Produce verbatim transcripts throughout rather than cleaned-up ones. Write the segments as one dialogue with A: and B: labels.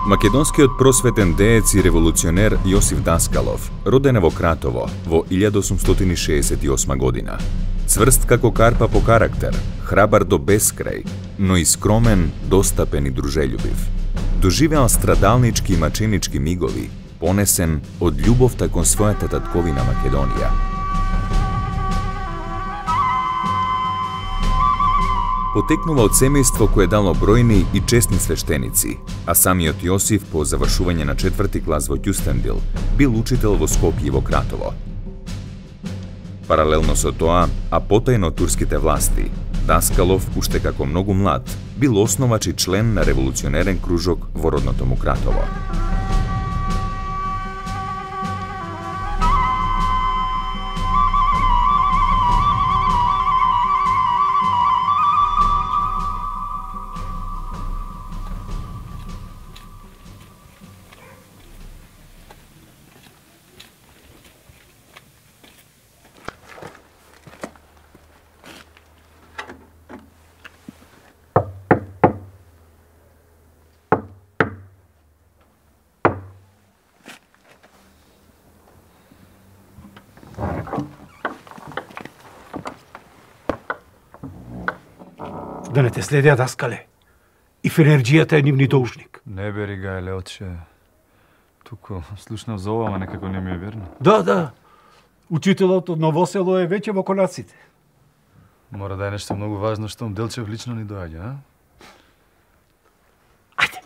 A: Македонскиот просветен деец и револуционер Јосиф Даскалов роден во Кратово во илјада осумстотини шеесет и осма година. Цврст како карпа по карактер, храбар до бескрај, но и скромен, достапен и дружелюбив. Доживеал страдалнички и маченички мигови, понесен од љубовта кон својата татковина Македонија. Потекнува од семејство кое дало бројни и честни свештеници, а самиот Јосиф по завршување на четврти клас во Кюстендил бил учител во Скопје и во Кратово. Паралелно со тоа, а потајно од турските власти, Даскалов, уште како многу млад, бил основач и член на револуционерен кружок во родното му Кратово.
B: Да не те следеа, Даскале. И фенерџијата е нивни должник.
C: Не бери га, Леотче. Туку слушнав за ова, ама некако не ми е верно.
B: Да, да. Учителот од Новосело е веќе во конаците.
C: Мора да е нешто многу важно што Делчев лично ни доаѓа, а?
B: Ајде.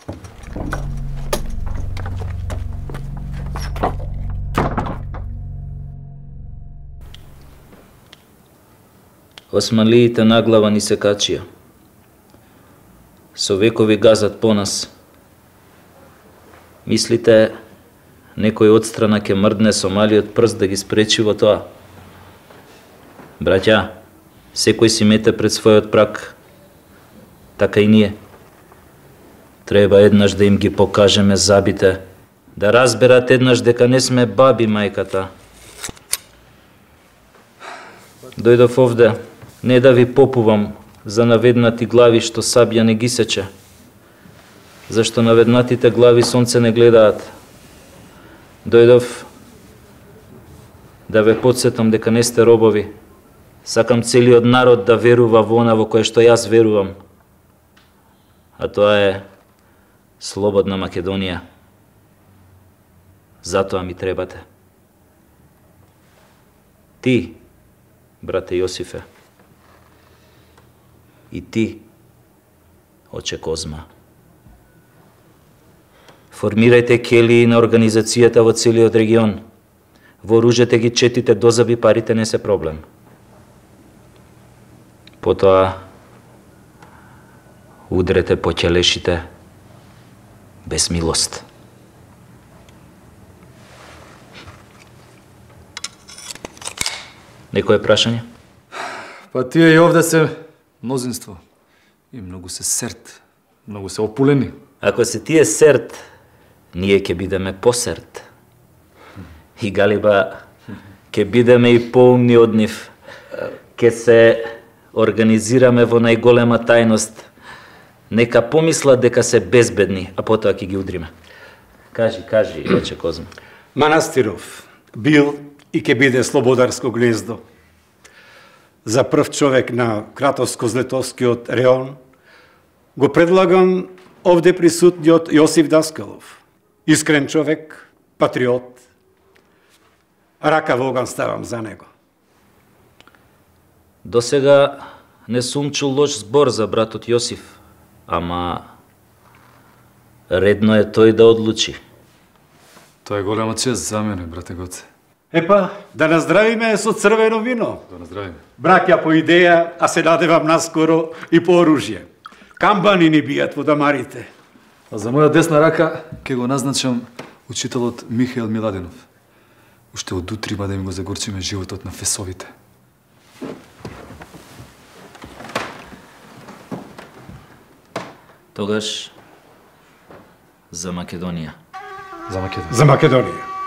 D: Османлиите наглава ни се качија. Со векови газат по нас. Мислите, некој одстрана ќе мрдне со малиот прст да ги спречи во тоа? Браќа, секој си мете пред својот прак. Така и ние. Треба еднаш да им ги покажеме забите, да разберат еднаш дека не сме баби мајката. Дојдов овде, не да ви попувам за наведнати глави што сабја не ги сече, зашто наведнатите глави сонце не гледаат. Дојдов да ве потсетам дека не сте робови. Сакам целиот народ да верува во она во кое што јас верувам. А тоа е слободна Македонија. Затоа ми требате. Ти, брате Јосифе, и ти, оче Козма. Формирајте келии на организацијата во целиот регион. Вооружете ги четите дозаби, парите не се проблем. Потоа удрете по ќелешите без милост. Некое прашање?
C: Па тие и овде се мнозинство. И многу се серт, многу се опулени.
D: Ако се тие серт, ние ќе бидеме посерт. И галиба, ќе бидеме и поумни од нив. Ќе се организираме во најголема тајност. Нека помислат дека се безбедни, а потоа ќе ги удриме. Кажи, кажи, оче Козма.
B: Манастиров бил и ќе биде слободарско гнездо. За прв човек на Кратовско-Злетовскиот реон го предлагам овде присутниот Јосиф Даскалов. Искрен човек, патриот. Рака во оган ставам за него.
D: До сега не сум чул лош збор за братот Јосиф, ама редно е тој да одлучи.
C: Тоа е голема чест за мене, брате Гоце.
B: Епа, да наздравиме со црвено вино.
C: Да наздравиме.
B: Браќа по идеја, а се надевам наскоро и по оружје. Камбани ни бијат во дамарите.
C: А за моја десна рака ќе го назначам учителот Михаил Миладинов. Уште од утрима да ми го загорчиме животот на фесовите.
D: Тогаш за Македонија.
C: За Македонија.
B: За Македонија.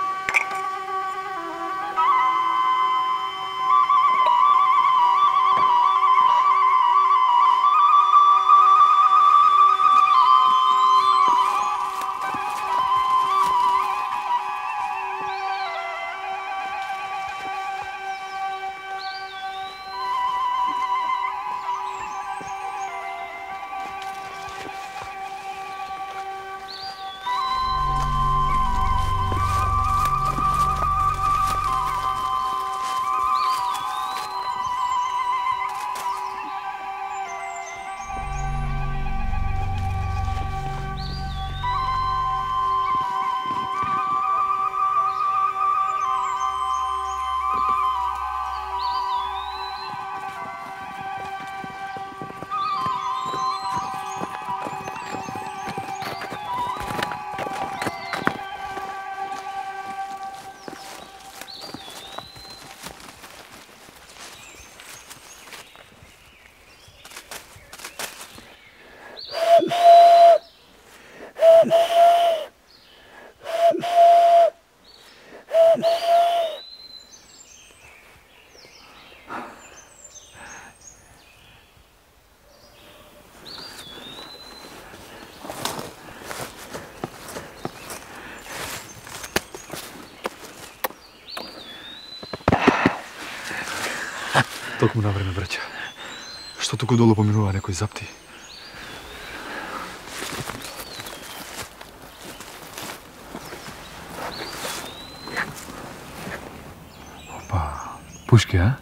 C: Токму на време, браќа. Што туку долу поминува некој запти? Опа, пушки, а?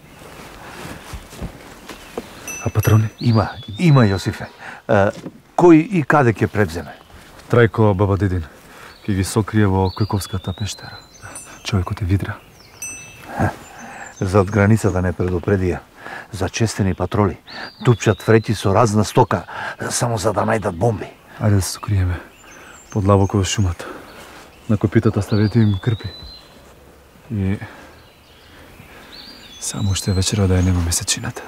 C: А патрони?
E: Има, има, Јосифе. А, кој и каде ќе превземе?
C: Трајко, баба Дедин, ќе ги сокрие во Којковската пештера. Човекот е Видра.
E: Зад границата не предупредија. Зачестени патроли. Тупчат фреќи со разна стока, само за да најдат бомби.
C: Ајде да се сокриеме. Подлабоко во шумата. На копитата ставете им крпи. И... само уште вечера да ја нема месечината.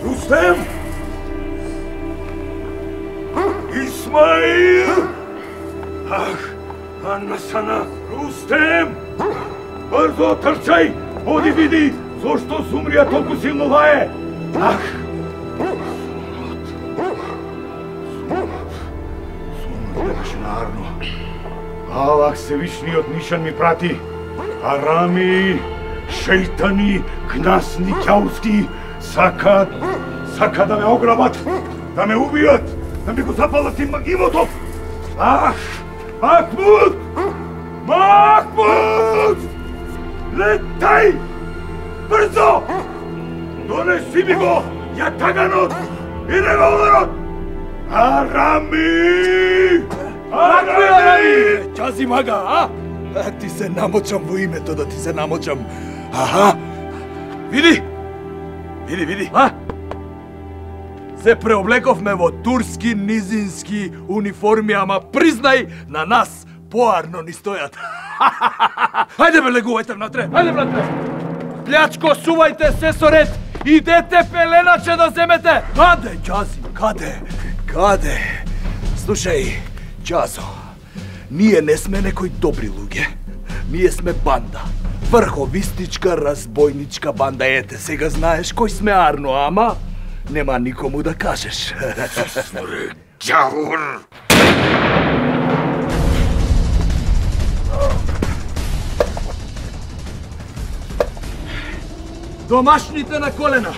F: Рустем! Исмаил! Ах, Анна Сана! Рустем! Брзо трчај! Оди види зошто Сумрија толку силно лае! Ах! Сумрија беше на Арно. Аллах Севишниот нишан ми прати. Арами, шејтани, гнасни ќаурски, сакаат, сака да ме ограбат, да ме убијат, да ми го запалат им имото. Ах, Махмуд! Махмуд! Летај! Брзо! Донеси ми го јатаганот и револверот! Арами! Арами!
G: Ќази мага, а? Ти се намочам во името да ти се намочам. Аха! Види! Види, види! А? Се преоблековме во турски низински униформи, ама признај, на нас поарно ни стојат. Хајде бе, легувајте внатре, хајде внатре! Плячко, сувајте се со ред! Идете пеленаче да земете! Каде, Ќази, каде? Каде? Слушај, Ќазо, ние не сме некои добри луѓе. Ние сме банда. Врховистичка, разбойничка банда. Ете, сега знаеш кој сме Арно, ама нема никому да кажеш.
F: Смре, ќаур!
G: Домашните на колена.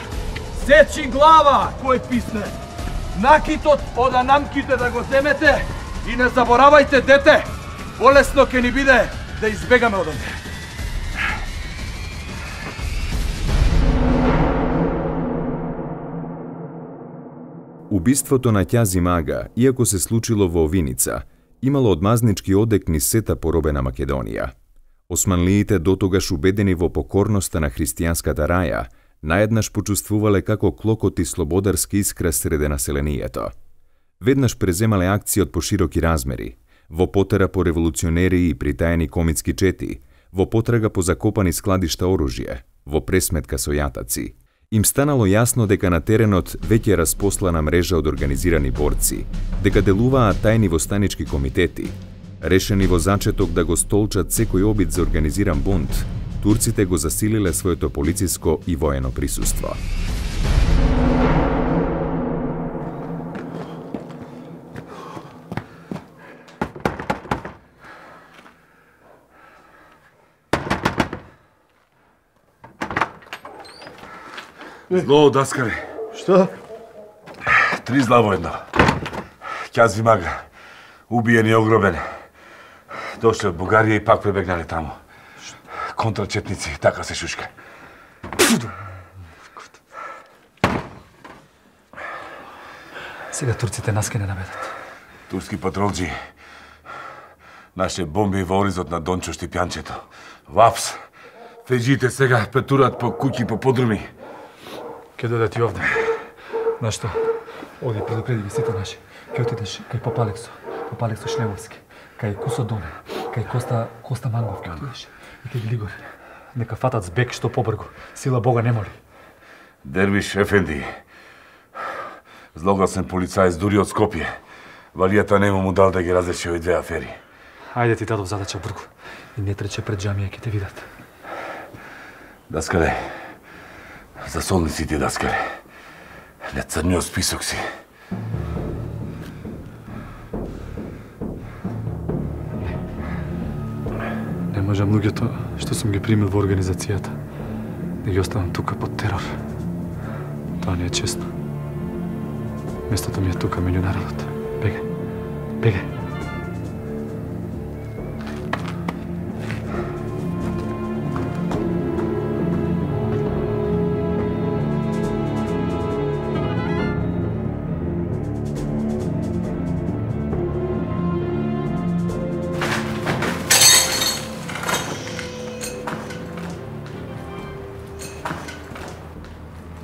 G: Сечи глава, кој писне. Накитот од анамките да го земете и не заборавајте, дете. Полесно ќе ни биде да избегаме од онде.
A: Убиството на Ќази Мага, иако се случило во Виница, имало одмазнички одек низ сета поробена Македонија. Османлиите, дотогаш убедени во покорноста на христијанската раја, наеднаш почувствувале како клокот и слободарски искра среде населението. Веднаш преземале акција од пошироки размери, во потера по револуционери и притаени комитски чети, во потрага по закопани складишта оружје, во пресметка со јатаци. Им станало јасно дека на теренот веќе е распослана мрежа од организирани борци, дека делуваат тајни востанички комитети. Решени во зачеток да го столчат секој обид за организиран бунт, турците го засилиле своето полициско и воено присуство.
F: Зло, даскале.
E: Што?
F: Три зла во едно. Ќази Мага, убиен и огробен. Дошле од Бугарија и пак пребегнале таму. Контрачетници, така се шушка.
C: Сега турците нас ке не наведат.
F: Турски патролџи. Наше бомби во оризот на Дончо Штипјанчето. Вапс. Феџите сега петурат по куќи по подруми.
C: Ке додат и овде. Знаеш што? Оди предупреди ги сите наши. Ке отидеш кај Поп Алексо, Поп Алексо Шлевовски, кај Кусо Доне, кај Коста Коста Мангов ке отидеш. И ке ги лигори. Нека фатат збег што побргу. Сила Бога не моли.
F: Дервиш Ефенди, злогласен полицаец дури од Скопје. Валијата нема му дал да ги разреши овие две афери.
C: Ајде ти дадов задача, Бурко. И не трече пред џамија, ќе те видат.
F: Даскале, за солниците, Даскале. Не црниот список си.
C: Не можам луѓето што сум ги примил во организацијата да ги оставам тука под терор. Тоа не е честно. Местото ми е тука меѓу народот. Бегај. Бегај.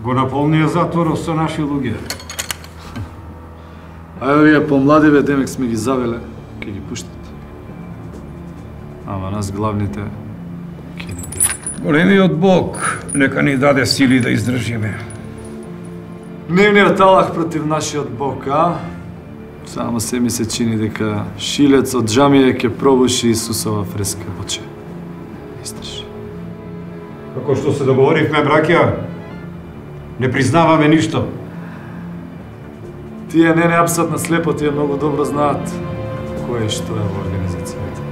B: Го наполнија затворот со наши луѓе.
C: А овие помладиве демек сме ги завеле, ќе ги пуштат. Ама нас главните ќе не дадат.
H: Големиот Бог нека ни даде сили да издржиме.
C: Нивниот алах против нашиот Бог, а? Само се ми се чини дека шилец од џамија ќе пробуши Исусова фреска во че. Исташ.
B: Како што се договоривме, браќа, не признаваме ништо.
C: Тие не не апсат на слепо, тие многу добро знаат кој е што е во организацијата.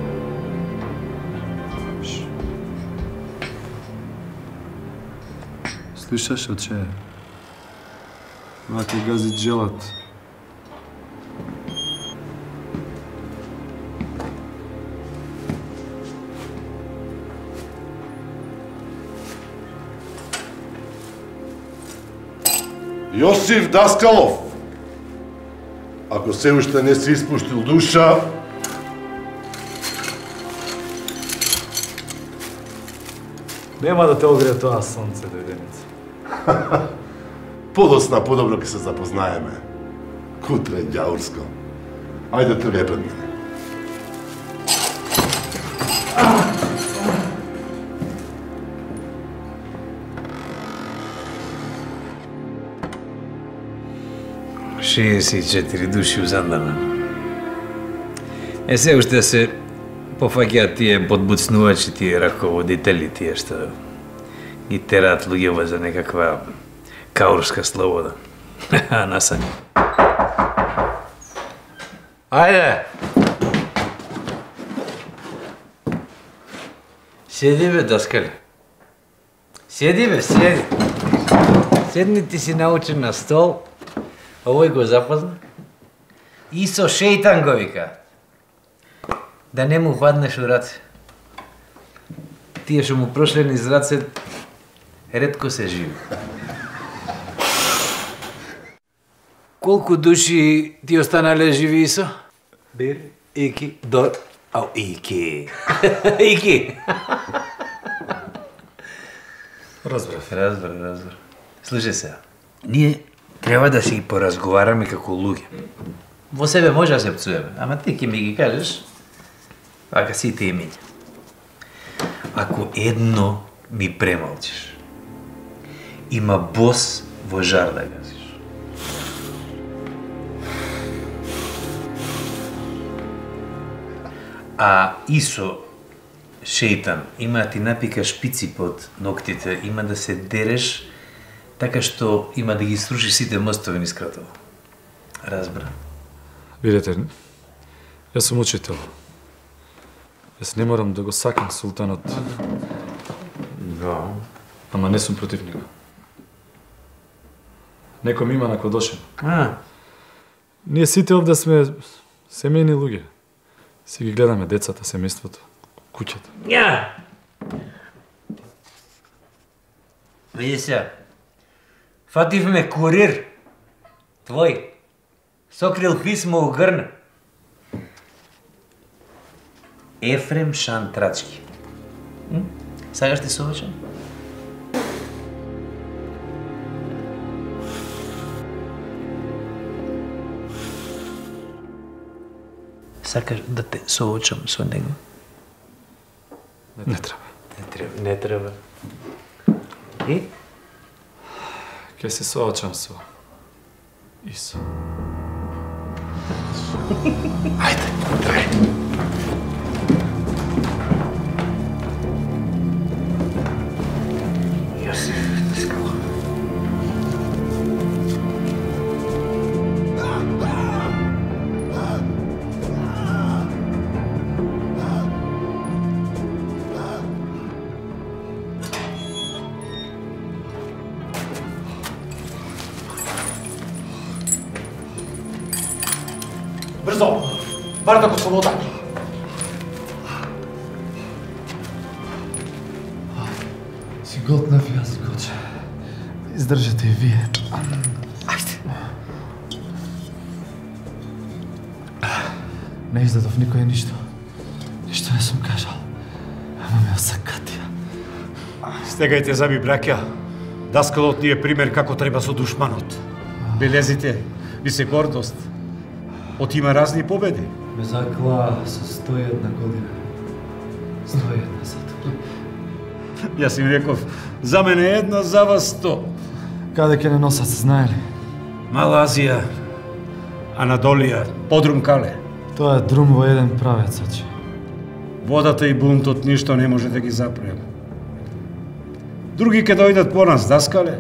C: Слушаш, оче? Ваќе гази джелат.
I: Јосиф Даскалов, ако се уште не си испуштил душа,
C: нема да те огрее тоа сонце, дојденица.
I: подосна подобро ќе се запознаеме. Кутре, ѓаурско. Ајде тргај пред мене.
J: шеесет и четири души узандана. Е се уште се пофаќаат тие подбуцнувачи, тие раководители, тие што ги тераат луѓево за некаква каурска слобода. Насани. Ајде! Седи бе, Даскале. Седи бе, седи. Седни, ти си научен на стол. Овој го запозна. Исо шејтан го вика. Да не му хватнеш у раце. Тие што му прошле низ раце, ретко се живи. Колку души ти останале живи, Исо? Бир, Ики, Дор, ау, Ики. Ики.
C: Разбрав.
J: Разбрав, разбрав. Слушај се, ние треба да си ги поразговараме како луѓе. Во себе може да се пцуеме, ама ти ќе ми ги кажеш, вака сите имиња. Ако едно ми премалчиш, има бос во жар да газиш. А Исо, шејтан, има да ти напика шпици под ноктите, има да се дереш, така што има да ги сруши сите мостови низ Кратово. Разбра.
C: Видете, јас сум учител. Јас не морам да го сакам султанот.
J: Да.
C: Ама не сум против него. Неком има на Кодошен.
J: А.
C: Ние сите овде сме семејни луѓе. Си ги гледаме децата, семејството, куќата.
J: Ја! Види се. Фативме курир. Твој. Сокрил писмо у грна. Ефрем Шантрачки. М? Сакаш ти совечам? Сакаш да те соочам со него?
C: Не треба.
J: Не треба. Не треба. И?
C: Ке се соочам со Исо.
I: Ајде, трај.
J: Јосиф Даскалов.
B: Брзо! Бардак од слобода!
C: Си готнав јас, Гоче. Издржете и вие.
J: Ајде.
C: Не издадов никој ништо. Ништо не сум кажал. Ама ме осакатија.
B: Стегајте заби, браќа. Даскалот ни е пример како треба со душманот. Белезите ви се гордост. От има разни победи.
C: Ме заклаа со сто и една година. сто и една затвор.
B: Јас им реков, за мене едно, за вас сто.
C: Каде ќе не носат, знае ли?
B: Мала Азија, Анадолија, Подрум Кале.
C: Тоа е друм во еден правец, очи.
B: Водата и бунтот ништо не може да ги запрем. Други ќе дојдат по нас, Даскале.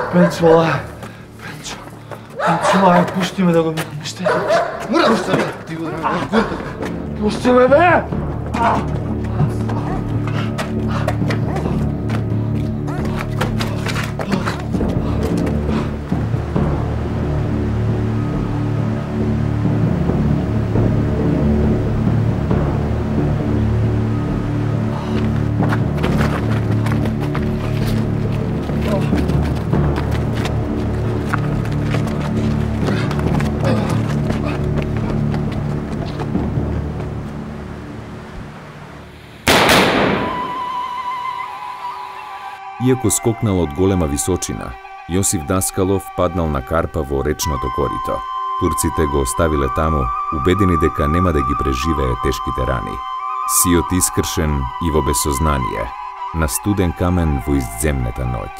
C: Пенчо, лај. Пенчо. Пенчо, лај, пушти ме да го видам. Ништо е. Пушти ме. Ти го драгам. Пушти ме, бе!
A: Иако скокнал од голема височина, Јосиф Даскалов паднал на карпа во речното корито. Турците го оставиле таму, убедени дека нема да ги преживее тешките рани. Сиот искршен и во безсознание, на студен камен во издземната ноќ.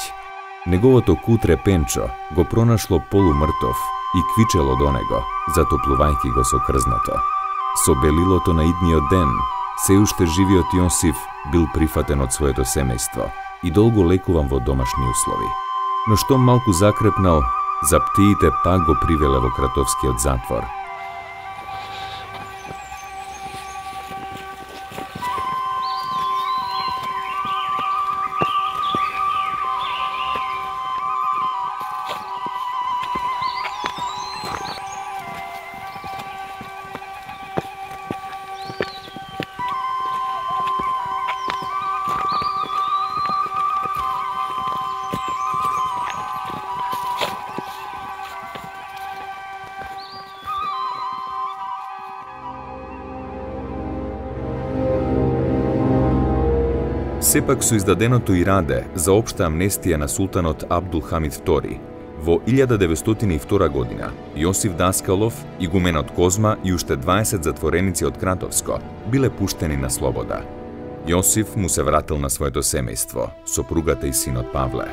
A: Неговото кутре Пенчо го пронашло полумртов и квичело до него, затоплувајќи го со крзното. Со белилото на идниот ден, се уште живиот Јосиф бил прифатен од своето семејство и долго лекуван во домашни услови. Но што малку закрепнал, за птиите пак го привеле во кратовскиот затвор. Сепак со издаденото ираде за општа амнестија на султанот Абдул Хамид втори, во илјада деветстотини и втора година, Јосиф Даскалов, игуменот Козма и уште дваесет затвореници од Кратовско биле пуштени на слобода. Јосиф му се вратил на своето семејство, сопругата и синот Павле.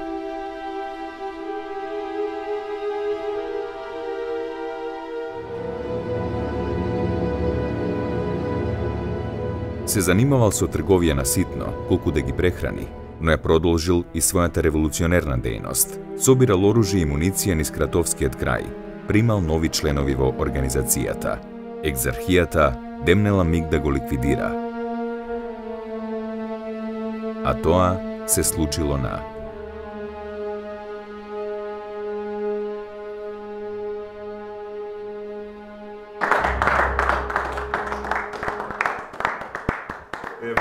A: Се занимавал со трговија на ситно, колку да ги прехрани, но ја продолжил и својата револуционерна дејност. Собирал оружје и муниција низ Кратовскиот крај, примал нови членови во организацијата. Екзархијата демнела миг да го ликвидира. А тоа се случило на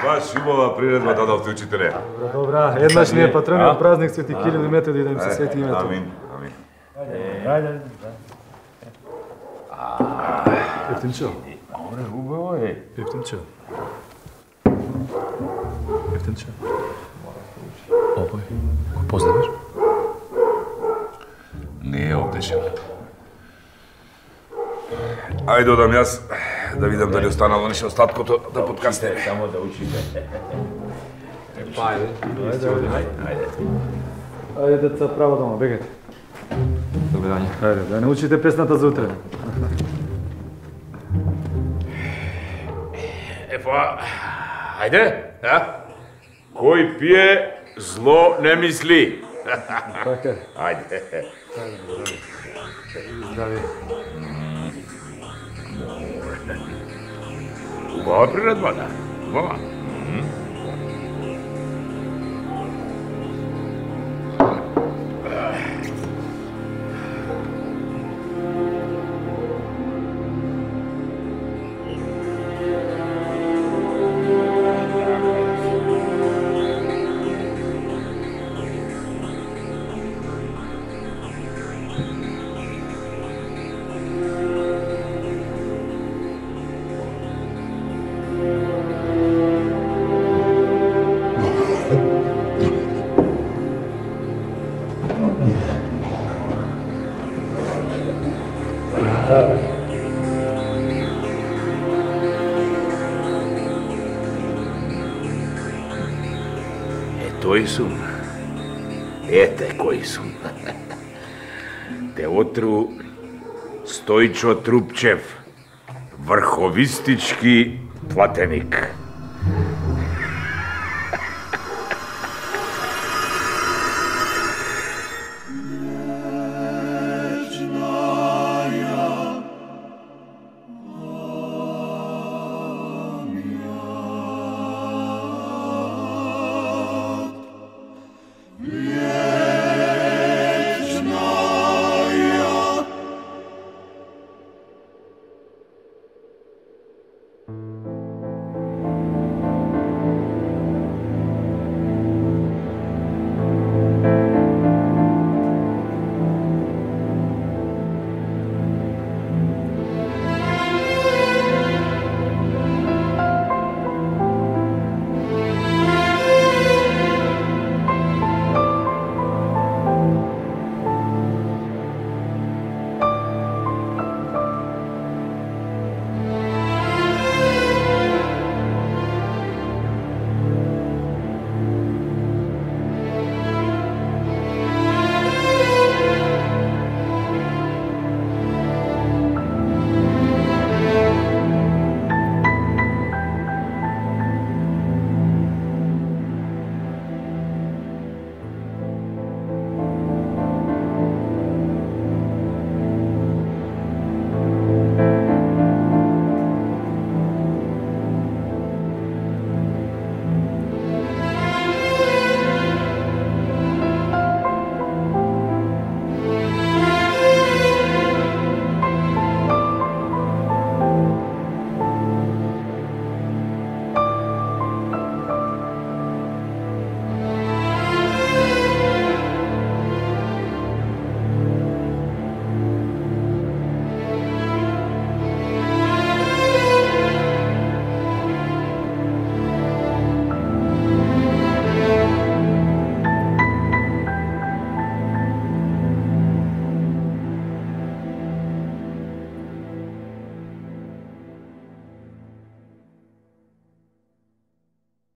K: Баш убава приредба дадовте, учителе.
C: Добра, добра. Еднаш ни е патрониот празник Свети Кирил и Методи да им се свети името.
K: Амин, амин.
C: Ајде. Ефтинчо.
K: Добре, убаво е.
C: Ефтинчо. Ефтинчо. Овој, го познаваш?
K: Не е овдешен. Ајде одам јас да видам дали останало нешто остаткото да подкасне.
J: Само да учите.
C: Па ајде. Ајде, ајде. Ајде деца, право дома, бегајте. Добре дање. Ајде, да не учите песната за утре.
F: Е па, ајде, а? Кој пие, зло не мисли.
C: Така.
F: Ајде.
C: Здрави.
F: Убава приредба, да. Убава. Тој сум. Ете кој сум. Те отру Стојчо Трупчев, врховистички платеник.